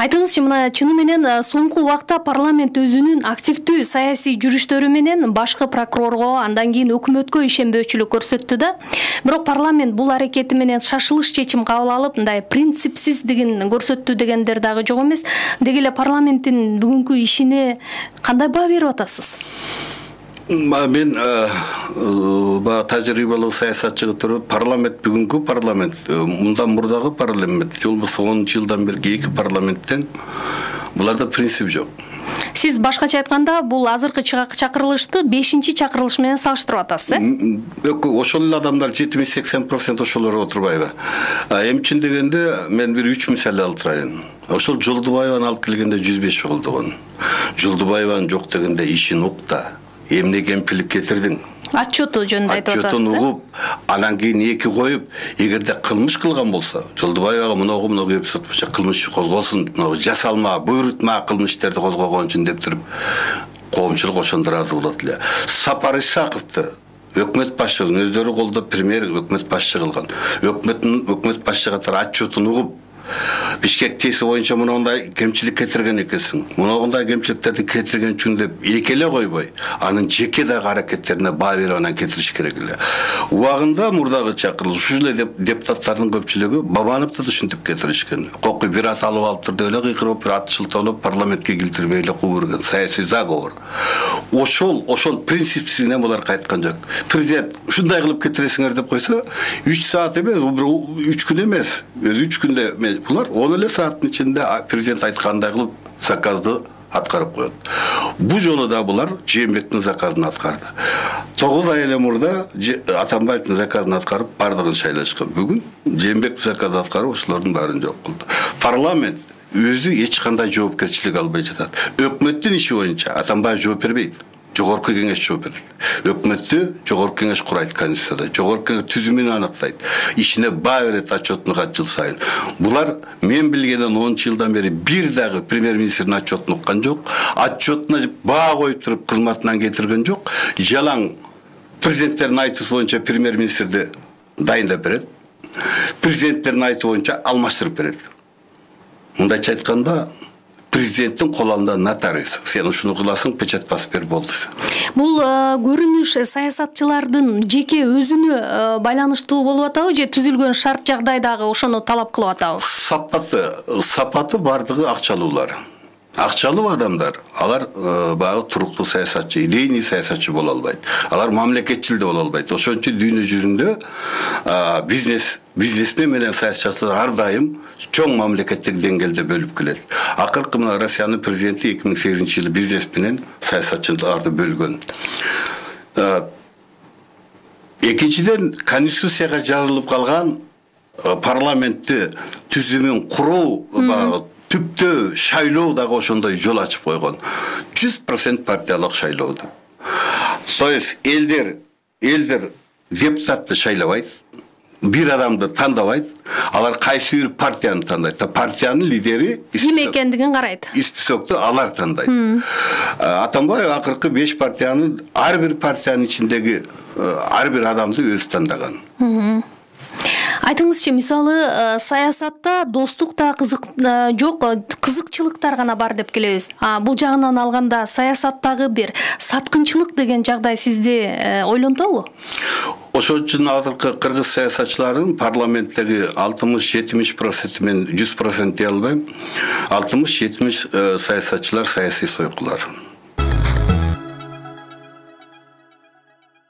Айтыңызчы, мына чыны менен соңку убакта парламент өзүнүн активдүү саясий жүрүштөрү менен башкы прокурорго, андан кийин өкмөткө ишенбөөчүлүк көрсөттү да. Бирок парламент бул аракети менен шашылыш чечим кабыл алып, мындай принципсиздигин көрсөттү дегендер дагы жок эмес. Деги эле парламенттин бүгүнкү ишине кандай баа берип атасыз? Мен тажрыйбалуу саясатчы туруп, парламент бүгүнкү парламент, мындан мурдагы парламент, же болбосо 10 жылдан берки эки парламенттен буларда принцип жок. Сиз башкача айтканда, бул азыркы чакырылышты 5-чакырылыш менен салыштырып атасыз, Ошол эле адамдар 70-80% ошолор отурбайбы? Эмчин дегенде мен бир 3 мисал алып турайын. Ошол Жолдубаеваны алып келгенде 105 жолдогон. Жолдубаеванын жок дегенде ишин укта. Эмне кемчилик кетирдиң? Отчету жөнүндө айтып атасыз. Отчетун угуп, анан кийин эки коюп, эгерде кылмыш кылган болсо, Жолдубаевага мыногу эпизод боюнча кылмыш козголсун, жасалма, буйрутма кылмыштерди козгогон үчүн деп туруп, коомчулук ошондо ыраазы болот эле. Сапар Исаковду өкмөт башчысын өздөрү колдоп премьер өкмөт башчы кылган. Өкмөт башчы катары отчетун угуп, Бишкек теси боюнча мындай кемчилик кетирген экенсиң. Мындай кемчиликтерди кетирген үчүн деп эки эле койбой, анын жеке дагы аракеттерине баа берип анан кетириш керек эле. Убагында мурдагы чакырылыш ушул эле депутаттардын көпчүлүгү Бабановду да ушинтип кетиришкен. Кокуй бир ат алып алыптыр деп эле кыйкырып, бир ат шылталап парламентке килтирбей эле куйгурган саясий заговор. Ошол принципсине булар кайткан жок. Президент ушундай кылып кетиресиңер деп койсо, 3 саат эмес, 3 күн эмес, өзү 3 күндө булар 10 эле сааттын ичинде президент айткандай кылып заказды аткарып коет. Бу жолу да булар Жээнбектин заказын аткарды. 9 ай эле мурда Атамбаевдин заказын аткарып бардыгын шайлашкан. Бүгүн Жээнбектин заказын аткарып ошолордун баарын жок кылды. Парламент өзү эч кандай жоопкерчилик албай жатат. Өкмөттүн иши боюнча Атамбаев жооп бербейт. Жогорку кеңеш жооп берет. Өкмөттү жогорку кеңеш курайт конституцияда. Жогорку кеңеш түзүмүн аныктайт. Ишине баа берет отчетун жыл сайын. Булар мен билгенден 10 жылдан бери бир дагы премьер-министрдин отчетун уккан жок. Отчетуна баа коюп туруп кызматынан кетирген жок. Жалаң президенттердин айтуусу боюнча премьер-министрди дайындап берет. Президенттердин айтуу боюнча алмаштырып берет. Мындайча айтканда, президенттин колунда нотариус. Сен ушуну кыласың, печать басып бер болду. Бул көрүнүш саясатчылардын жеке өзүнө байланыштуу болуп атабы же түзүлгөн шарт жагдайдагы ошону талап кылып атабы? Сапаты бардыгы акчалуулар. Акчалуу адамдар, алар багы туруктуу саясатчы, идейный саясатчы боло албайт. Алар мамлекетчил да боло албайт. Ошон үчүн дүйнө жүзүндө бизнесмен менен саясатчылар ар дайым чоң мамлекеттик деңгээлде бөлүп келет. Акыркы мына Россиянын президенти 2008-жылы бизнес менен саясатчыларды бөлгөн. Экинчиден, конституцияга жазылып калган парламентти түзүмүн куруу багы түптө шайлоо дагы ошондой жол ачып койгон. 100% партиялык шайлооду. То есть элдер депутатты шайлабайт, бир адамды тандабайт, алар кайсы бир партияны тандайт. Партиянын лидери ким экендигин карайт. Списокту алар тандайт. Атамбаев акыркы 5 партиянын ар бир партиянын ичиндеги ар бир адамды өзү тандаган. Айтыңызчы, мисалы саясатта достук да жок, кызыкчылыктар гана бар деп келебиз. Бул жагынан алганда саясаттагы бир саткынчылык деген жагдай сизди ойлонтобу? Ошол үчүн азыркы кыргыз саясатчыларын парламенттеги 60-70% мен 100% дей албайм. 60-70 саясатчылар саясий сойкулар.